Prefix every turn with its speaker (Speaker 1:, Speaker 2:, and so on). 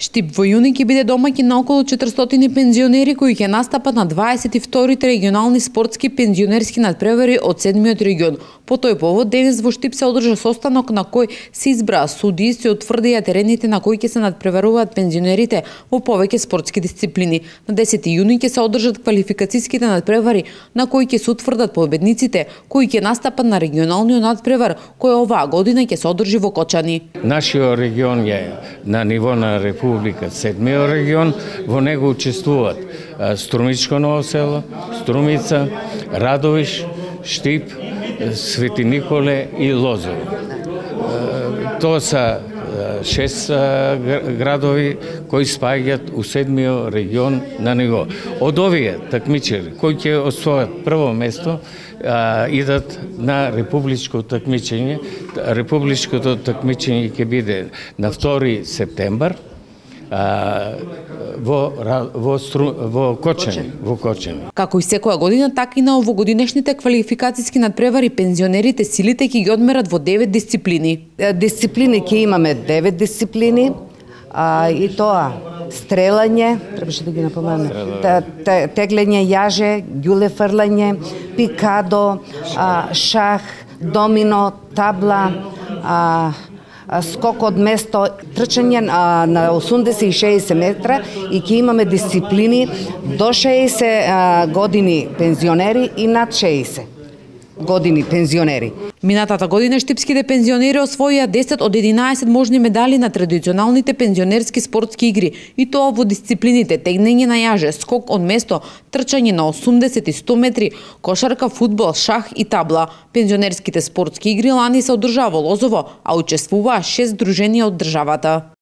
Speaker 1: Штип во јуни ќе биде домаќин на околу 400 пензионери кои ќе настапат на 22-ти регионални спортски пензионерски надпревари од 7-миот регион. По тој повод денес во Штип се одржа состанок на кој се избраа судии и се утврдија терените на кои ќе се надпреваруваат пензионерите во повеќе спортски дисциплини. На 10 јуни ќе се одржат квалификациските надпревари на кои ќе се утврдат победниците кои ќе настапат на регионалниот надпревар кој оваа година ќе се одржи во Кочани.
Speaker 2: Нашиот регион е на ниво на Република 7-миот регион, во него учествуваат Струмичко Ново село, Струмица, Радовиш, Штип, Свети Николе и Лозово. Тоа се 6 градови кои спаѓаат у 7-миот регион на ниво. Од овие такмичари кои ќе освојат прво место идат на републичко такмичење. Републичкото такмичење ќе биде на 2 септембар во Кочани.
Speaker 1: Како и секоја година, така и на овогодинешните квалификациски надпревари пензионерите силите ќе ги одмерат во 9 дисциплини.
Speaker 3: Дисциплини ќе имаме 9 дисциплини, и тоа стрелање, требаше да ги напоменам, теглење јаже, ѓуле фрлање, пикадо, шах, домино, табла, скок од место, трчање на 80 и 60 метра и ќе имаме дисциплини до 60 години пензионери и над 60 години пензионери.
Speaker 1: Минатата година штипските пензионери освоија 10 од 11 можни медали на традиционалните пензионерски спортски игри и тоа во дисциплините тегнење на јаже, скок од место, трчање на 80 и 100 метри, кошарка, фудбал, шах и табла. Пензионерските спортски игри лани се одржаа во Лозово, а учествуваа 6 здруженија од државата.